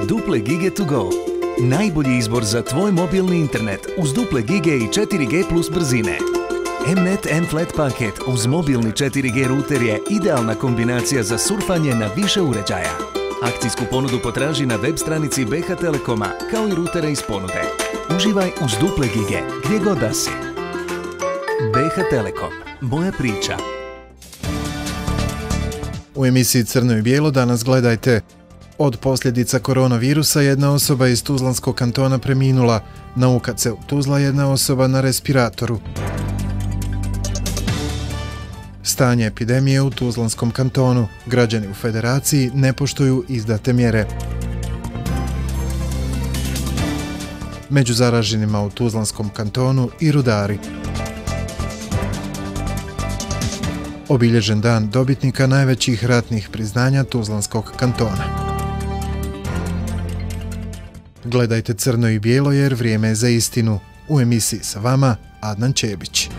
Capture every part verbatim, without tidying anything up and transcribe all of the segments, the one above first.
Duple gige to go. Najbolji izbor za tvoj mobilni internet uz duple gige i četiri G plus brzine. Mnet M-Flat paket uz mobilni četiri G router je idealna kombinacija za surfanje na više uređaja. Akcijsku ponudu potraži na web stranici B H Telekoma, kao i rutere iz ponude. Uživaj uz duple gige, gdje god da si. B H Telekom. Moja priča. U emisiji Crno i bijelo danas gledajte. Od posljedica koronavirusa jedna osoba iz Tuzlanskog kantona preminula. Na U K C-u Tuzla jedna osoba na respiratoru. Stanje epidemije u Tuzlanskom kantonu. Građani u Federaciji ne poštuju izdate mjere. Među zaraženima u Tuzlanskom kantonu i rudari. Obilježen dan dobitnika najvećih ratnih priznanja Tuzlanskog kantona. Gledajte Crno i bijelo jer vrijeme je za istinu. U emisiji sa vama Adnan Čebić.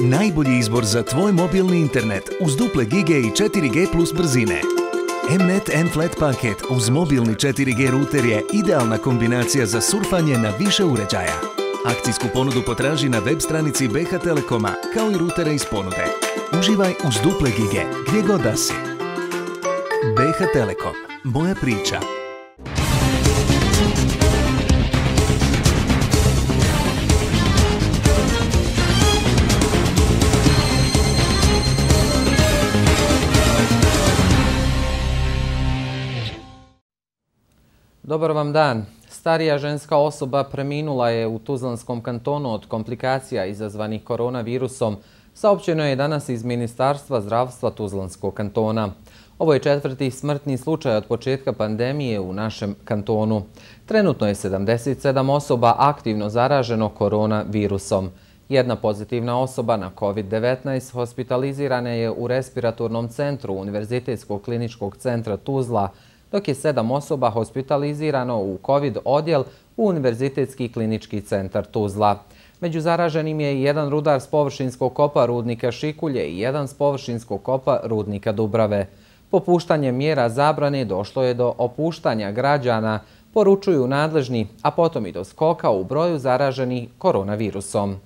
Najbolji izbor za tvoj mobilni internet uz duple gige i četiri G plus brzine. Mnet M-Flat paket uz mobilni četiri G router je idealna kombinacija za surfanje na više uređaja. Akcijsku ponudu potraži na web stranici B H Telekoma, kao i rutere iz ponude. Uživaj uz duple gige, gdje god da si. B H Telekom. Moja priča. Dobar vam dan. Starija ženska osoba preminula je u Tuzlanskom kantonu od komplikacija izazvanih koronavirusom, saopćeno je danas iz Ministarstva zdravstva Tuzlanskog kantona. Ovo je četvrti smrtni slučaj od početka pandemije u našem kantonu. Trenutno je sedamdeset sedam osoba aktivno zaraženo koronavirusom. Jedna pozitivna osoba na kovid devetnaest hospitalizirana je u respiratornom centru Univerzitetskog kliničkog centra Tuzla, dok je sedam osoba hospitalizirano u COVID odjel u Univerzitetski klinički centar Tuzla. Među zaraženim je i jedan rudar s površinskog kopa rudnika Šikulje i jedan s površinskog kopa rudnika Dubrave. Popuštanjem mjera zabrane došlo je do opuštanja građana, poručuju nadležni, a potom i do skoka u broju zaraženih koronavirusom.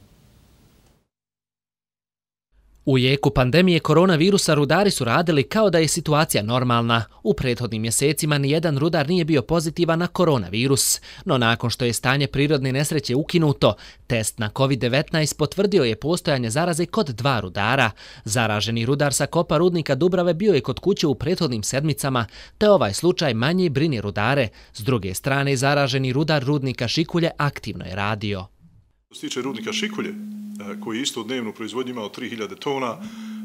U jeku pandemije koronavirusa rudari su radili kao da je situacija normalna. U prethodnim mjesecima nijedan rudar nije bio pozitivan na koronavirus. No nakon što je stanje prirodne nesreće ukinuto, test na kovid devetnaest potvrdio je postojanje zaraze kod dva rudara. Zaraženi rudar sa kopa rudnika Dubrave bio je kod kuće u prethodnim sedmicama, te ovaj slučaj manje brini rudare. S druge strane, zaraženi rudar rudnika Šikulje aktivno je radio. Što se tiče rudnika Šikulje, koji isto u dnevnu proizvodnju imao tri hiljade tona,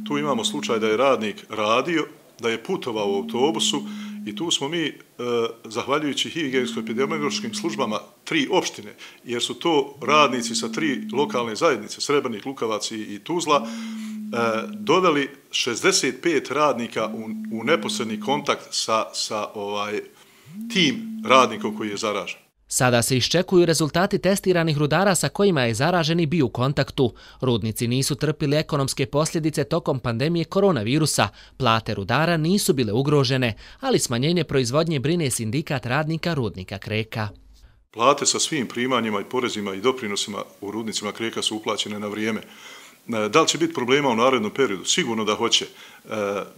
tu imamo slučaj da je radnik radio, da je putovao u autobusu i tu smo mi, zahvaljujući higijensko-epidemiološkim službama, tri opštine, jer su to radnici sa tri lokalne zajednice, Srebrnik, Lukavac i Tuzla, doveli šezdeset pet radnika u, u neposredni kontakt sa, sa ovaj, tim radnikom koji je zaražen. Sada se iščekuju rezultati testiranih rudara sa kojima je zaraženi bio u kontaktu. Rudnici nisu trpili ekonomske posljedice tokom pandemije koronavirusa. Plate rudara nisu bile ugrožene, ali smanjenje proizvodnje brine sindikat radnika rudnika Kreka. Plate sa svim primanjima i porezima i doprinosima u rudnicima Kreka su uplaćene na vrijeme. Da li će biti problema u narednom periodu? Sigurno da hoće.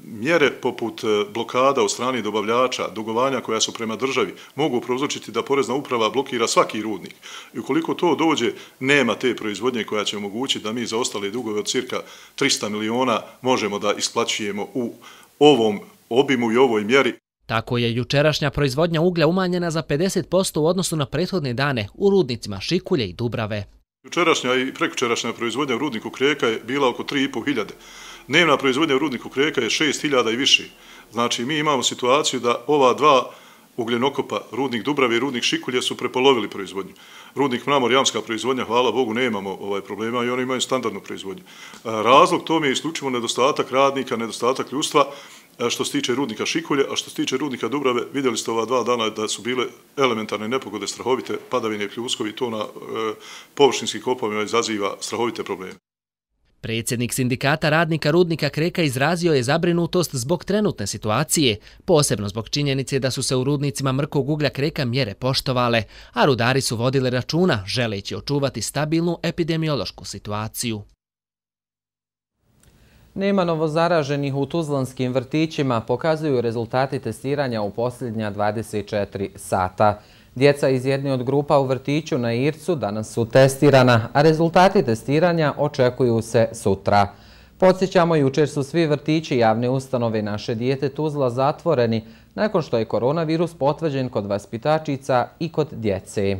Mjere poput blokada od strane dobavljača, dugovanja koja su prema državi, mogu prouzročiti da porezna uprava blokira svaki rudnik. I ukoliko to dođe, nema te proizvodnje koja će omogućiti da mi za ostale dugove od cirka trista miliona možemo da isplaćujemo u ovom obimu i ovoj mjeri. Tako je jučerašnja proizvodnja uglja umanjena za pedeset posto u odnosu na prethodne dane u rudnicima Šikulje i Dubrave. Jučerašnja i prekučerašnja proizvodnja u rudniku Kreka je bila oko tri i po hiljade. Dnevna proizvodnja u rudniku Kreka je šest hiljada i više. Znači, mi imamo situaciju da ova dva ugljenokopa, rudnik Dubrave i rudnik Šikulje, su prepolovili proizvodnju. Rudnik Mramor, jamska proizvodnja, hvala Bogu, nemamo ovaj problema i oni imaju standardnu proizvodnju. Razlog tome je isključivo nedostatak radnika, nedostatak ljudstva, što se tiče rudnika Šikulje, a što se tiče rudnika Dubrave, vidjeli ste ova dva dana da su bile elementarne nepogode, strahovite padavine i pljuskovi, to na e, površinskim kopovima izaziva strahovite probleme. Predsjednik sindikata radnika rudnika Kreka izrazio je zabrinutost zbog trenutne situacije, posebno zbog činjenice da su se u rudnicima mrkog uglja Kreka mjere poštovale, a rudari su vodili računa želeći očuvati stabilnu epidemiološku situaciju. Nema novozaraženih u tuzlanskim vrtićima, pokazuju rezultati testiranja u posljednja dvadeset četiri sata. Djeca iz jedne od grupa u vrtiću na Ircu danas su testirana, a rezultati testiranja očekuju se sutra. Podsjećamo, jučer su svi vrtići javne ustanove Naše dijete Tuzla zatvoreni nakon što je koronavirus potvrđen kod vaspitačica i kod djece.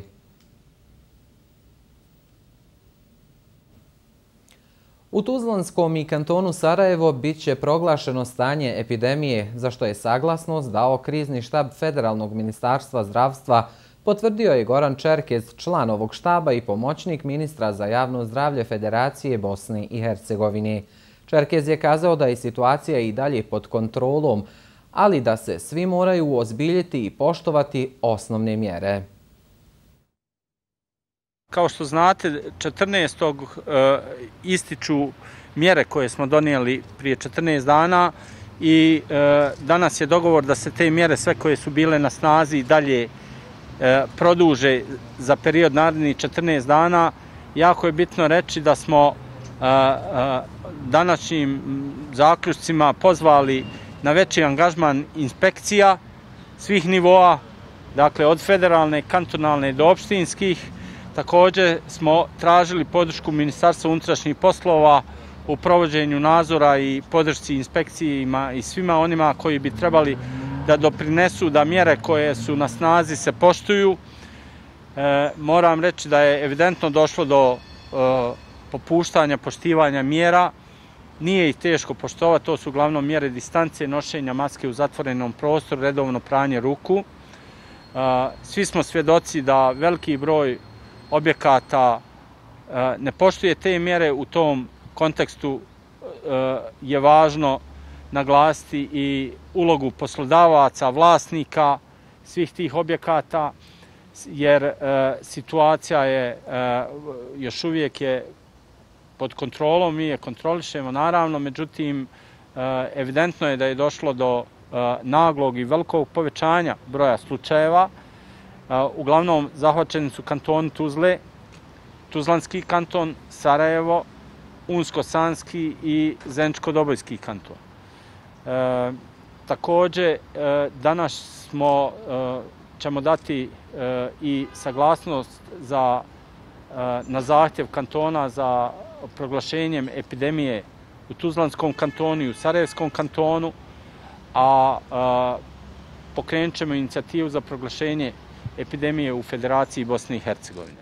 U Tuzlanskom i kantonu Sarajevo bit će proglašeno stanje epidemije, za što je saglasnost dao krizni štab Federalnog ministarstva zdravstva, potvrdio je Goran Čerkez, član ovog štaba i pomoćnik ministra za javno zdravlje Federacije Bosne i Hercegovine. Čerkez je kazao da je situacija i dalje pod kontrolom, ali da se svi moraju uozbiljiti i poštovati osnovne mjere. Kao što znate, četrnaestog ističu mjere koje smo donijeli prije četrnaest dana i danas je dogovor da se te mjere, sve koje su bile na snazi, dalje produže za period narednih četrnaest dana. Jako je bitno reći da smo današnjim zaključcima pozvali na veći angažman inspekcija svih nivoa, dakle od federalne, kantonalne do opštinskih. Također smo tražili podršku Ministarstva unutrašnjih poslova u provođenju nadzora i podršci inspekcijima i svima onima koji bi trebali da doprinesu da mjere koje su na snazi se poštuju. E, moram reći da je evidentno došlo do e, popuštanja, poštivanja mjera. Nije ih teško poštovati, to su uglavnom mjere distance, nošenja maske u zatvorenom prostoru, redovno pranje ruku. E, svi smo svjedoci da veliki broj objekata e, ne poštuje te mjere. U tom kontekstu e, je važno naglasiti i ulogu poslodavaca, vlasnika svih tih objekata, jer e, situacija je e, još uvijek je pod kontrolom, mi je kontrolišemo naravno, međutim e, evidentno je da je došlo do e, naglog i velikog povećanja broja slučajeva. E, uglavnom zahvaćeni su kantoni Tuzle, Tuzlanski kanton, Sarajevo, Unsko-Sanski i Zeničko-Dobojski kanton. E, također, e, danas smo, e, ćemo dati e, i saglasnost za, e, na zahtjev kantona za proglašenjem epidemije u Tuzlanskom kantonu i u Sarajevskom kantonu, a, a pokrenut ćemo inicijativu za proglašenje epidemije u Federaciji Bosne i Hercegovine.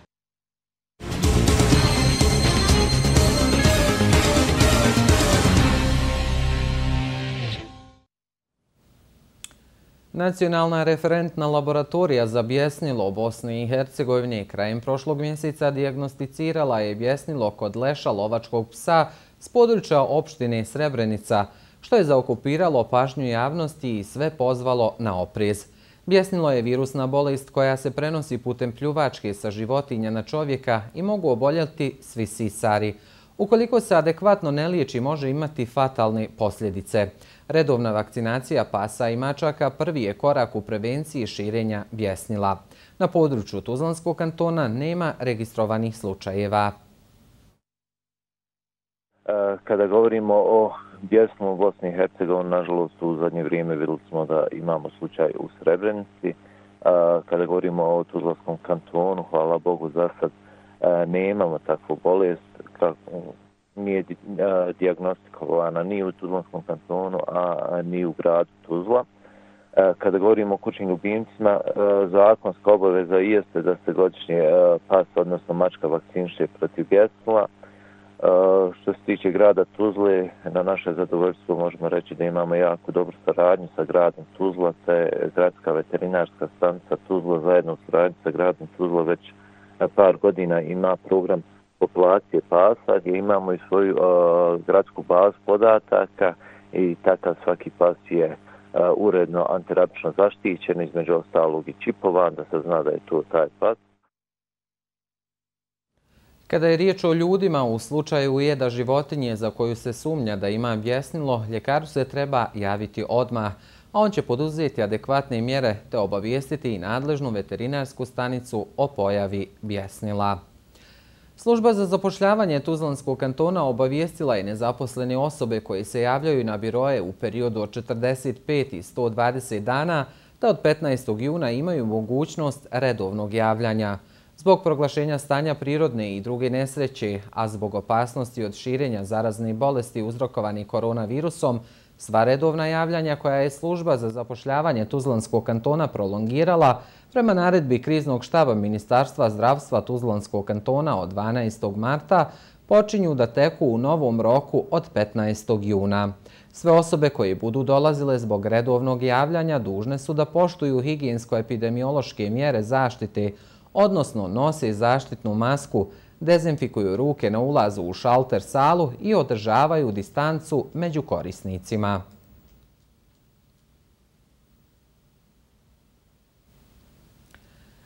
Nacionalna referentna laboratorija za bjesnilo Bosne i Hercegovine krajem prošlog mjeseca dijagnosticirala je bjesnilo kod leša lovačkog psa s područja opštine Srebrenica, što je zaokupiralo pažnju javnosti i sve pozvalo na oprez. Bjesnilo je virusna bolest koja se prenosi putem pljuvačke sa životinja na čovjeka i mogu oboljeti svi sisari. Ukoliko se adekvatno ne liječi, može imati fatalne posljedice. Redovna vakcinacija pasa i mačaka prvi je korak u prevenciji širenja bjesnila. Na području Tuzlanskog kantona nema registrovanih slučajeva. Kada govorimo o bjesnilu u Bosni i Hercegovini, nažalost u zadnje vrijeme vidjeli smo da imamo slučaj u Srebrenici. Kada govorimo o Tuzlanskom kantonu, hvala Bogu, za sad nemamo takvu bolest. Nije dijagnostikovana ni u Tuzlanskom kantonu, a ni u gradu Tuzla. Kada govorimo o kućnim ljubimcima, zakonska obaveza jeste da se godišnje pas, odnosno mačka, vakciniše protiv bjesnila. Što se tiče grada Tuzle, na naše zadovoljstvo možemo reći da imamo jako dobru saradnju sa gradom Tuzla, te gradska veterinarska stanica Tuzla zajedno u saradnji sa gradom Tuzla već par godina ima program populacije pasa gdje imamo i svoju uh, gradsku bazu podataka i takav svaki pas je uh, uredno antirabično zaštićen, između ostalog i čipovan, da se zna da je to taj pas. Kada je riječ o ljudima, u slučaju jeda životinje za koju se sumnja da ima bjesnilo, ljekaru se treba javiti odmah, a on će poduzeti adekvatne mjere te obavijestiti i nadležnu veterinarsku stanicu o pojavi bjesnila. Služba za zapošljavanje Tuzlanskog kantona obavijestila je nezaposlene osobe koje se javljaju na biroje u periodu od četrdeset pet i sto dvadeset dana da od petnaestog juna imaju mogućnost redovnog javljanja. Zbog proglašenja stanja prirodne i druge nesreće, a zbog opasnosti od širenja zarazne bolesti uzrokovane koronavirusom, sva redovna javljanja koja je služba za zapošljavanje Tuzlanskog kantona prolongirala prema naredbi kriznog štaba Ministarstva zdravstva Tuzlanskog kantona od dvanaestog marta počinju da teku u novom roku od petnaestog juna. Sve osobe koje budu dolazile zbog redovnog javljanja dužne su da poštuju higijensko-epidemiološke mjere zaštite, odnosno nose zaštitnu masku, dezinfikuju ruke na ulazu u šalter salu i održavaju distancu među korisnicima.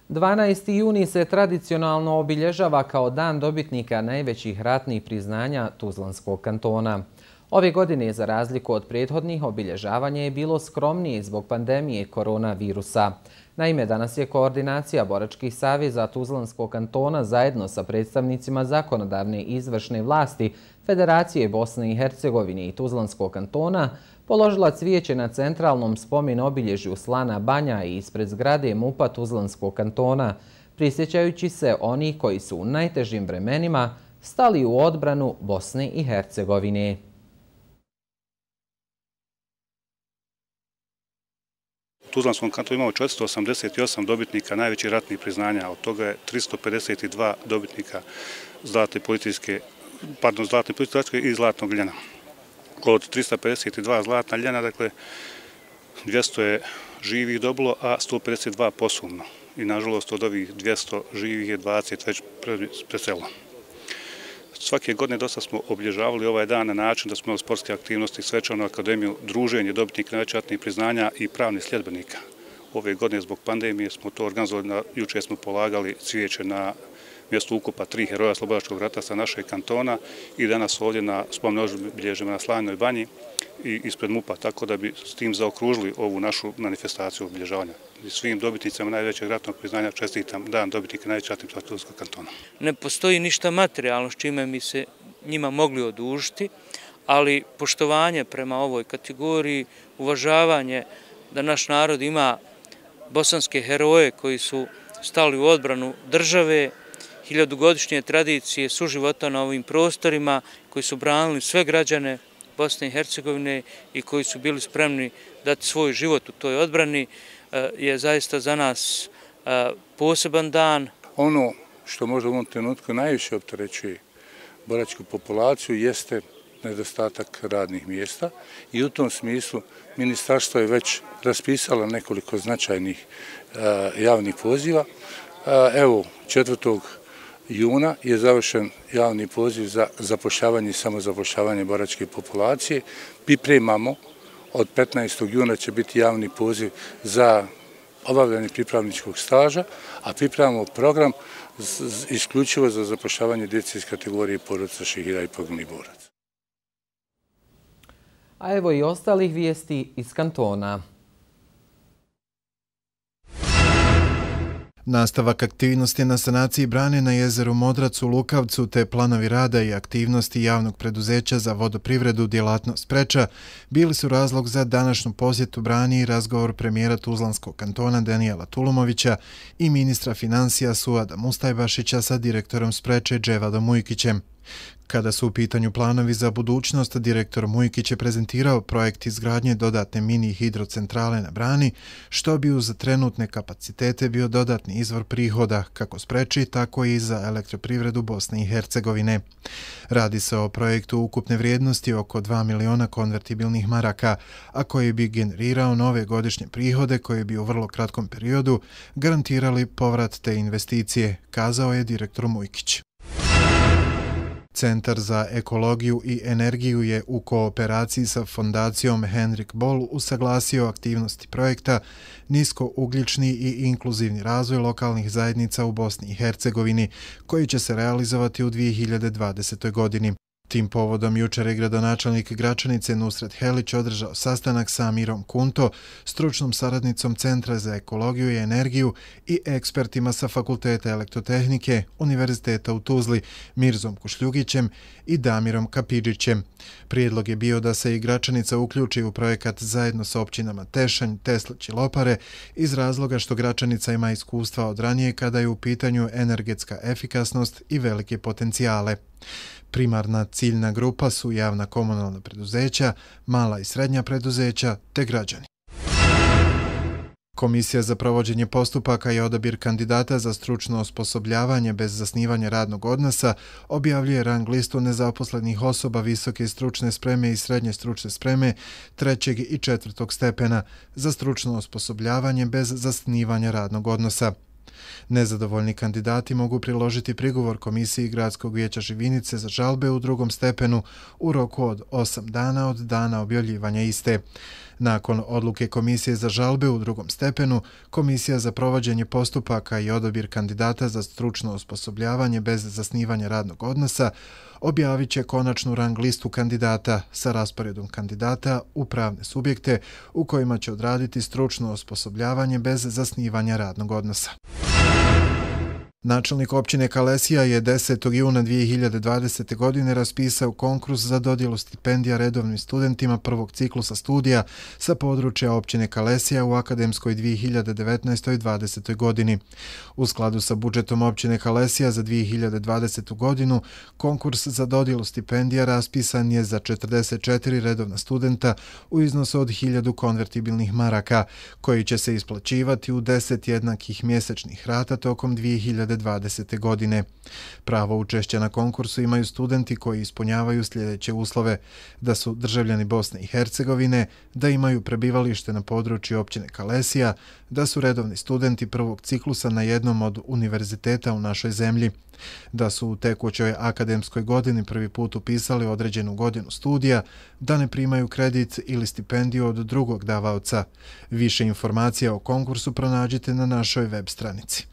dvanaesti juni se tradicionalno obilježava kao dan dobitnika najvećih ratnih priznanja Tuzlanskog kantona. Ove godine, za razliku od prethodnih, obilježavanje je bilo skromnije zbog pandemije koronavirusa. Naime, danas je koordinacija boračkih saveza Tuzlanskog kantona zajedno sa predstavnicima zakonodavne i izvršne vlasti Federacije Bosne i Hercegovine i Tuzlanskog kantona položila cvijeće na centralnom spomen obilježju Slana Banja i ispred zgrade MUP-a Tuzlanskog kantona, prisjećajući se onih koji su u najtežim vremenima stali u odbranu Bosne i Hercegovine. U Tuzlanskom kantonu imamo četiristo osamdeset osam dobitnika najvećih ratnih priznanja, od toga je tristo pedeset dva dobitnika zlatne policijske, pardon, zlatne policijske i zlatnog ljena. Od trista pedeset dva zlatna ljena, dakle, dvjesto je živih dobilo, a sto pedeset dva posumno. I, nažalost, od ovih dvjesto živih je dvadeset već preselilo. Svake godine dosta smo obilježavali ovaj dan na način da smo imali sportske aktivnosti, svečanu akademiju, druženje dobitnika najvećih ratnih priznanja i pravnih sljedbenika. Ove godine zbog pandemije smo to organizovali, juče smo polagali cvijeće na mjestu ukopa tri heroja Slobodačkog rata sa našeg kantona i danas ovdje na spomen obilježjima na Slanoj Banji i ispred MUP-a, tako da bi s tim zaokružili ovu našu manifestaciju obilježavanja. I svim dobitnicama najvećeg ratnog priznanja čestitam dan dobitnika najvećih ratnih priznanja Tuzlanskog kantona. Ne postoji ništa materijalno s čime mi se njima mogli odužiti, ali poštovanje prema ovoj kategoriji, uvažavanje da naš narod ima bosanske heroje koji su stali u odbranu države, hiljadugodišnje tradicije suživota na ovim prostorima, koji su branili sve građane Bosne i Hercegovine i koji su bili spremni dati svoj život u toj odbrani, je zaista za nas poseban dan. Ono što možda u ovom trenutku najviše opterećuje boračku populaciju jeste nedostatak radnih mjesta i u tom smislu ministarstvo je već raspisalo nekoliko značajnih javnih poziva. Evo, četvrtog juna je završen javni poziv za zapošljavanje i samozapošljavanje boračke populacije. Pripremamo, od petnaestog juna će biti javni poziv za obavljanje pripravničkog staža, a pripremamo program isključivo za zapošljavanje djece iz kategorije porodica šehida i poginulih boraca. A evo i ostalih vijesti iz kantona. Nastavak aktivnosti na sanaciji brane na jezeru Modrac u Lukavcu te planovi rada i aktivnosti javnog preduzeća za vodoprivredu djelatnost Preča bili su razlog za današnju posjetu brani i razgovor premijera Tuzlanskog kantona Danijela Tulumovića i ministra financija Suada Mustajbašića sa direktorom Spreče Dževadom Mujkićem. Kada su u pitanju planovi za budućnost, direktor Mujkić je prezentirao projekt izgradnje dodatne mini hidrocentrale na brani, što bi uz trenutne kapacitete bio dodatni izvor prihoda, kako Spreči, tako i za elektroprivredu Bosne i Hercegovine. Radi se o projektu ukupne vrijednosti oko dva miliona konvertibilnih maraka, a koji bi generirao nove godišnje prihode koje bi u vrlo kratkom periodu garantirali povrat te investicije, kazao je direktor Mujkić. Centar za ekologiju i energiju je u kooperaciji sa fondacijom Henrik Boll usaglasio aktivnosti projekta Niskougljični i inkluzivni razvoj lokalnih zajednica u Bosni i Hercegovini, koji će se realizovati u dvije hiljade dvadesetoj. godini. Tim povodom jučer je gradonačelnik Gračanice Nusret Helić održao sastanak sa Mirom Kunto, stručnom saradnicom Centra za ekologiju i energiju i ekspertima sa Fakulteta elektrotehnike Univerziteta u Tuzli, Mirzom Kušljugićem i Damirom Kapidžićem. Prijedlog je bio da se i Gračanica uključi u projekat zajedno sa općinama Tešanj, Teslić i Lopare iz razloga što Gračanica ima iskustva od ranije kada je u pitanju energetska efikasnost i velike potencijale. Primarna ciljna grupa su javna komunalna preduzeća, mala i srednja preduzeća te građani. Komisija za provođenje postupaka i odabir kandidata za stručno osposobljavanje bez zasnivanja radnog odnosa objavljuje rang listu nezaposlenih osoba visoke stručne spreme i srednje stručne spreme trećeg i četvrtog stepena za stručno osposobljavanje bez zasnivanja radnog odnosa. Nezadovoljni kandidati mogu priložiti prigovor Komisiji Gradskog vijeća Živinice za žalbe u drugom stepenu u roku od osam dana od dana objavljivanja iste. Nakon odluke Komisije za žalbe u drugom stepenu, Komisija za provođenje postupaka i odabir kandidata za stručno osposobljavanje bez zasnivanja radnog odnosa objavit će konačnu rang listu kandidata sa rasporedom kandidata u pravne subjekte u kojima će odraditi stručno osposobljavanje bez zasnivanja radnog odnosa. Načelnik općine Kalesija je desetog juna dvije hiljade dvadesete. godine raspisao konkurs za dodjelu stipendija redovnim studentima prvog ciklusa studija sa područja općine Kalesija u akademskoj dvije hiljade devetnaestoj dvadesetoj. godini. U skladu sa budžetom općine Kalesija za dvije hiljade dvadesetu. godinu, konkurs za dodjelu stipendija raspisan je za četrdeset četiri redovna studenta u iznosu od hiljadu konvertibilnih maraka, koji će se isplaćivati u deset jednakih mjesečnih rata tokom dvije hiljade dvadesete. godine. Pravo učešća na konkursu imaju studenti koji ispunjavaju sljedeće uslove: da su državljani Bosne i Hercegovine, da imaju prebivalište na području općine Kalesija, da su redovni studenti prvog ciklusa na jednom od univerziteta u našoj zemlji, da su u tekućoj akademskoj godini prvi put upisali određenu godinu studija, da ne primaju kredit ili stipendiju od drugog davaoca. Više informacija o konkursu pronađite na našoj web stranici.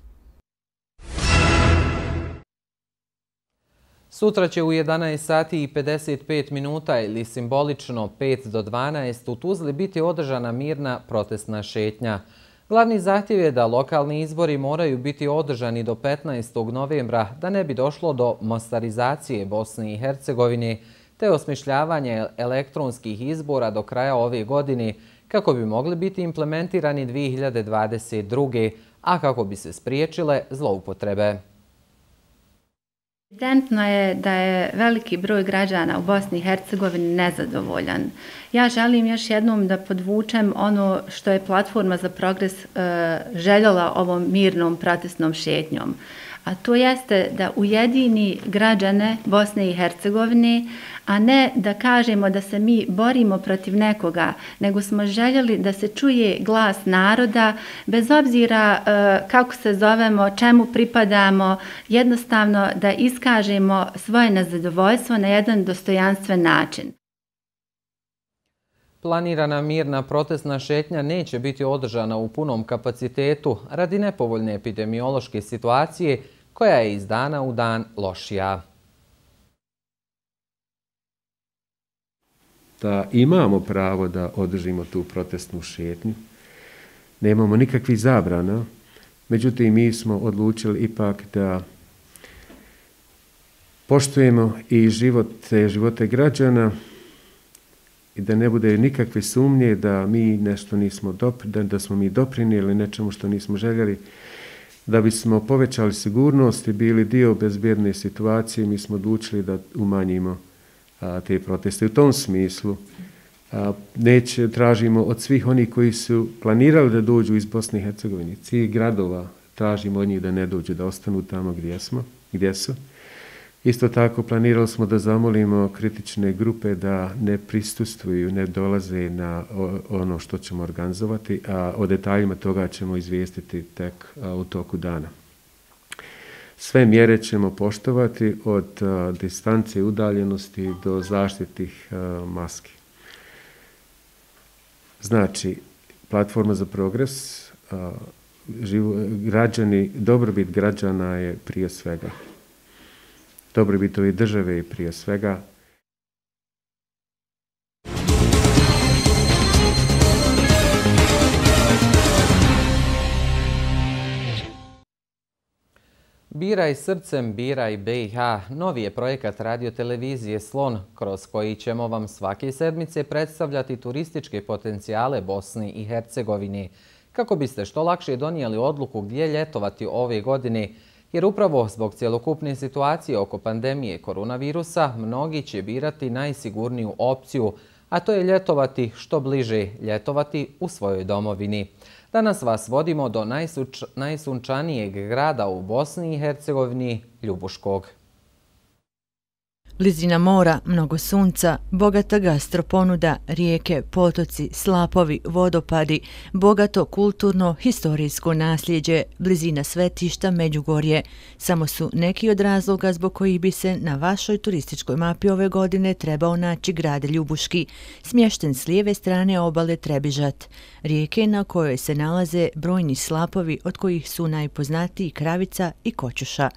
Sutra će u jedanaest sati i pedeset pet minuta ili simbolično pet do dvanaest u Tuzli biti održana mirna protestna šetnja. Glavni zahtjev je da lokalni izbori moraju biti održani do petnaestog novembra da ne bi došlo do mostarizacije Bosne i Hercegovine te osmišljavanje elektronskih izbora do kraja ove godine kako bi mogli biti implementirani dvije hiljade dvadeset druge. a kako bi se spriječile zloupotrebe. Evidentno je da je veliki broj građana u Bosni i Hercegovini nezadovoljan. Ja želim još jednom da podvučem ono što je Platforma za progres e, željela ovom mirnom protestnom šetnjom. A to jeste da ujedini građane Bosne i Hercegovine, a ne da kažemo da se mi borimo protiv nekoga, nego smo željeli da se čuje glas naroda, bez obzira e, kako se zovemo, čemu pripadamo, jednostavno da iskažemo svoje nezadovoljstvo na jedan dostojanstven način. Planirana mirna protestna šetnja neće biti održana u punom kapacitetu radi nepovoljne epidemiološke situacije koja je iz dana u dan lošija. Da imamo pravo da održimo tu protestnu šetnju, nemamo nikakvih zabrana, međutim mi smo odlučili ipak da poštujemo i živote, živote građana i da ne bude nikakve sumnje da mi nešto nismo dopri, da, da smo mi doprinijeli nečemu što nismo željeli. Da bismo povećali sigurnost i bili dio bezbjedne situacije, mi smo odlučili da umanjimo a, te proteste. U tom smislu a, neće, tražimo od svih onih koji su planirali da dođu iz Bosne i Hercegovine, svih gradova, tražimo od njih da ne dođu, da ostanu tamo gdje smo, gdje su. Isto tako planirali smo da zamolimo kritične grupe da ne prisustvuju, ne dolaze na ono što ćemo organizovati, a o detaljima toga ćemo izvijestiti tek u toku dana. Sve mjere ćemo poštovati od a, distance i udaljenosti do zaštitih a, maski. Znači, platforma za progres, a, živo, građani, dobrobit građana je prije svega. Dobrobit ove države je prije svega. Biraj srcem, biraj B i H. Novi je projekat radiotelevizije Slon, kroz koji ćemo vam svake sedmice predstavljati turističke potencijale Bosne i Hercegovine, kako biste što lakše donijeli odluku gdje ljetovati ove godine, jer upravo zbog cjelokupne situacije oko pandemije koronavirusa mnogi će birati najsigurniju opciju, a to je ljetovati što bliže, ljetovati u svojoj domovini. Danas vas vodimo do najsuč, najsunčanijeg grada u Bosni i Hercegovini, Ljubuškog. Blizina mora, mnogo sunca, bogata gastroponuda, rijeke, potoci, slapovi, vodopadi, bogato kulturno, historijsko nasljeđe, blizina svetišta, Međugorje. Samo su neki od razloga zbog kojih bi se na vašoj turističkoj mapi ove godine trebao naći grad Ljubuški, smješten s lijeve strane obale Trebižat, rijeke na kojoj se nalaze brojni slapovi od kojih su najpoznatiji Kravica i Koćuša.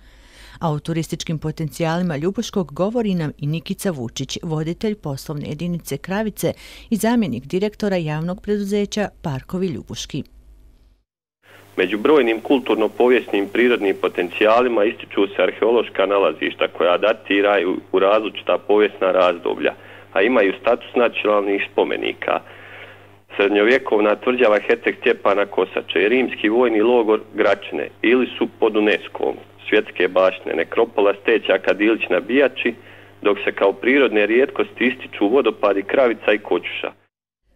A o turističkim potencijalima Ljubuškog govori nam i Nikica Vučić, voditelj poslovne jedinice Kravice i zamjenik direktora javnog preduzeća Parkovi Ljubuški. Među brojnim kulturno-povijesnim prirodnim potencijalima ističu se arheološka nalazišta koja datiraju u različita povijesna razdoblja, a imaju status nacionalnih spomenika. Srednjovjekovna tvrđava Herceg Stjepana Kosače i rimski vojni logor Gračine ili su pod UNESCO-om svjetske baštine, nekropola Steća Kadilić na Bijači, dok se kao prirodne rijetkosti ističu vodopadi Kravica i Koćuša.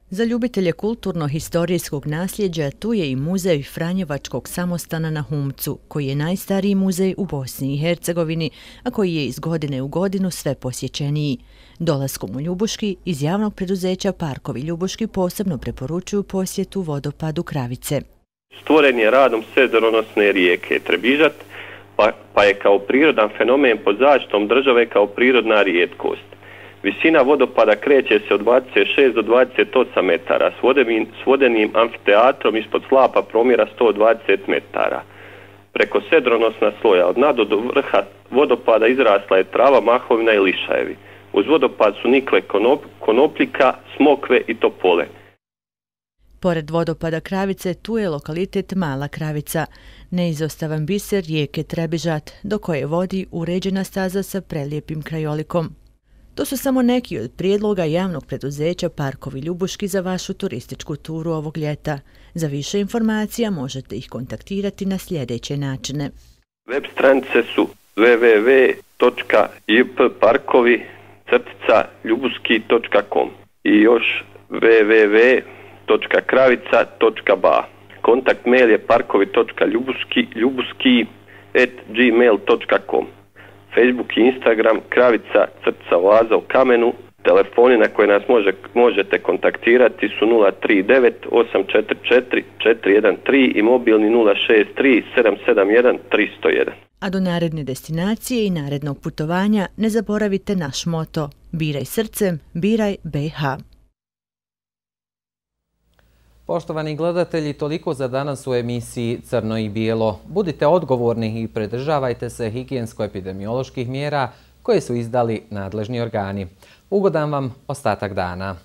Za ljubitelje kulturno-historijskog nasljeđa tu je i muzej Franjevačkog samostana na Humcu, koji je najstariji muzej u Bosni i Hercegovini, a koji je iz godine u godinu sve posjećeniji. Dolaskom u Ljubuški iz javnog preduzeća Parkovi Ljubuški posebno preporučuju posjetu vodopadu Kravice. Stvoren je radom sredozemne rijeke Trebižat, pa, pa je kao prirodan fenomen pod zaštitom države kao prirodna rijetkost. Visina vodopada kreće se od dvadeset šest do dvadeset osam metara, s vodenim, s vodenim amfiteatrom ispod slapa promjera sto dvadeset metara. Preko sedronosna sloja od nado do vrha vodopada izrasla je trava, mahovina i lišajevi. Uz vodopad su nikle konop, konopljika, smokve i topole. Pored vodopada Kravice, tu je lokalitet Mala Kravica, neizostavan biser rijeke Trebižat, do koje vodi uređena staza sa prelijepim krajolikom. To su samo neki od prijedloga javnog preduzeća Parkovi Ljubuški za vašu turističku turu ovog ljeta. Za više informacija možete ih kontaktirati na sljedeće načine. Web stranice su w w w točka j p parkovi crtica ljubuski točka com i još w w w točka kravica točka b a. Kontakt mail je parkovi točka ljubuski at gmail točka com. Facebook i Instagram Kravica crtica oaza u kamenu. Telefoni na koje nas može, možete kontaktirati su nula tri devet osam četiri četiri četiri jedan tri i mobilni nula šest tri sedam sedam jedan tri zero jedan. A do naredne destinacije i narednog putovanja ne zaboravite naš moto: biraj srcem, biraj B H. Poštovani gledatelji, toliko za danas u emisiji Crno i bijelo. Budite odgovorni i pridržavajte se higijensko-epidemioloških mjera koje su izdali nadležni organi. Ugodan vam ostatak dana.